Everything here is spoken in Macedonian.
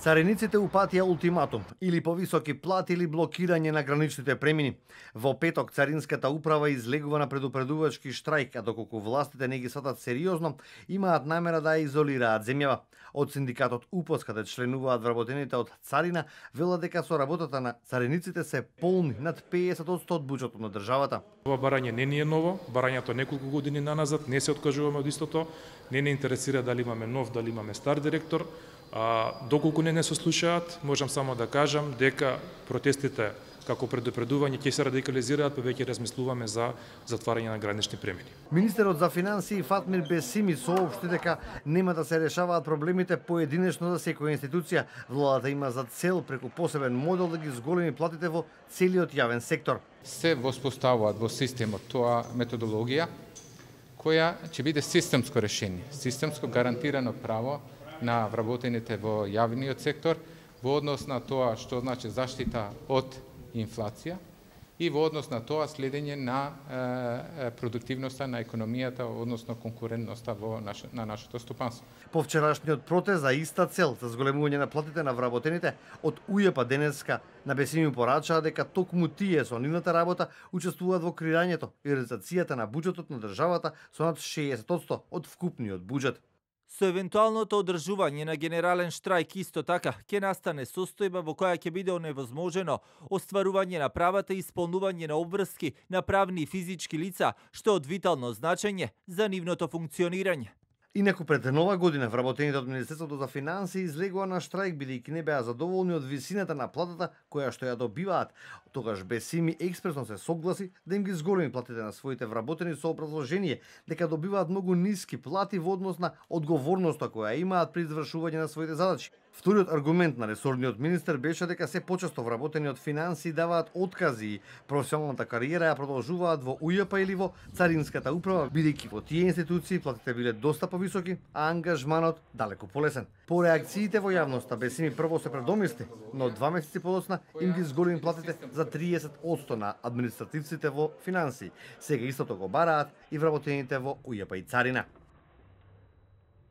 Цариниците упатија ултиматум или повисоки плати или блокирање на граничните премини. Во петок Царинската управа излегува на предупредувачки штрајк, а доколку властите не ги сватат сериозно, имаат намера да ја изолираат земјава. Од синдикатот УПОС, каде членуваат вработените од царина, велат дека со работата на цариниците се полни над 50% од буџетот на државата. Ова барање не ни е ново, барањето неколку години наназад, не се откажуваме од истото, не интересира дали имаме нов, дали имаме стар директор. Доколку не се слушаат, можам само да кажам дека протестите како предупредување ќе се радикализираат, па веќе размислуваме за затварање на гранични премини. Министерот за финансии Фатмир Бесими соопшти дека нема да се решаваат проблемите поединечно за секоја институција. Владата има за цел преку посебен модел да ги зголеми платите во целиот јавен сектор. Се воспоставуваат во системот тоа методологија која ќе биде системско решение, системско гарантирано право на вработените во јавниот сектор во однос на тоа што значи заштита од инфлација и во однос на тоа следење на продуктивноста на економијата, односно конкурентноста на нашето стопанство. По вчерашниот протест за иста цел за зголемување на платите на вработените од УЈП денеска на Бесими порачаа дека токму тие со нивната работа учествуваат во креирањето и реализацијата на буџетот на државата со над 60% од вкупниот буџет. Со евентуалното одржување на генерален штрајк исто така ќе настане состојба во која ќе биде оневозможено остварување на правата и исполнување на обврски на правни и физички лица, што е од витално значење за нивното функционирање. Инаку пред нова година вработените од Министерството за финансии излегува на штрајк бидејќи не беа задоволни од висината на платата која што ја добиваат. Тогаш Бесими експресно се согласи да им ги зголеми платите на своите вработени со образложение дека добиваат многу ниски плати во однос на одговорноста која имаат при извршување на своите задачи. Вториот аргумент на ресорниот министер беше дека се почесто вработени од финансии даваат откази и професионалната кариера ја продолжуваат во УЈП или во Царинската управа, бидејќи во тие институции платите биле доста повисоки, а ангажманот далеку полесен. По реакциите во јавноста Бесими прво се предомисли, но 2 месеци подоцна им ги зголеми платите за 30% на административците во финансии. Сега истото го бараат и вработените во УЈП и Царина.